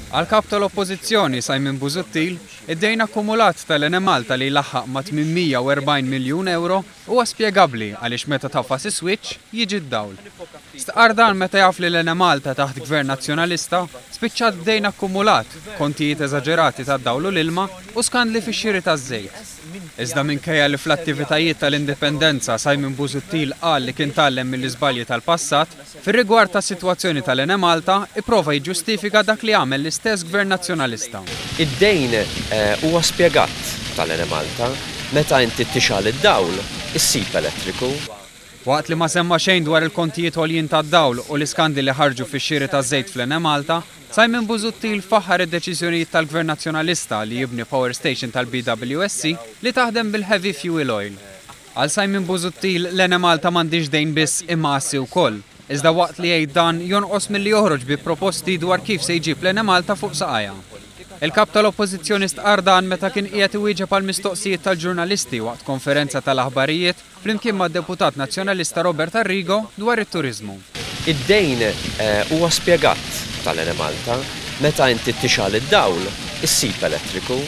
Għall-Kap tal-Oppożizzjoni Simon Busuttil, id-dejn akkumulat tal-Enemalta li jlaħħaq ma' 840 miljun ewro huwa spjegabbli għaliex meta tagħfas is-switch jiġi d-dawl. Stqarr dan meta jaf li l-Enemalta taħt Gvern Nazzjonalista spiċċat b'dejn akkumulat, kontijiet eżaġerati tad-dawl u l-ilma u skandli fix-xiri taż-żejt. Iżda minkejja li fl-attivitajiet tal-Indipendenza Simon Busuttil qal li kien tgħallem mill-iżbalji tal-passat, Fir-rigward tas-sitwazzjoni tal-Enemalta, ipprova jiġġustifika dak li għamel l-istess Gvern Nazzjonalista. Id-dejn huwa spjegat tal-Enemalta. Meta inti tixgħal id-dawl, issib elettriku. Waqt li ma semma xejn dwar il-kontijiet għoljin tad-dawl u l-iskandli li ħarġu fix-xiri taż-żejt fl-Enemalta, Simon Busuttil faħħar id-deċiżjonijiet tal-Gvern Nazzjonalista li jibni power station tal-BWSC li taħdem bil-heavy fuel oil. Għal Simon Busuttil, l-Enemalta m'għandhiex dejn biss imma assi wkoll. Iżda waqt li jgħid dan, jonqos milli joħroġ bi proposti dwar kif se jġib l-Enemalta fuq saqajha. Il-Kap tal-Oppożizzjoni stqarr dan meta kien qiegħed iwieġeb għal mistoqsijiet tal-ġurnalisti waqt konferenza tal-aħbarijiet flimkien mad-Deputat Nazzjonalista Robert Arrigo dwar it-turiżmu. Id-dejn huwa spjegat tal-Enemalta. Meta inti tixgħal id-dawl, issib elettriku.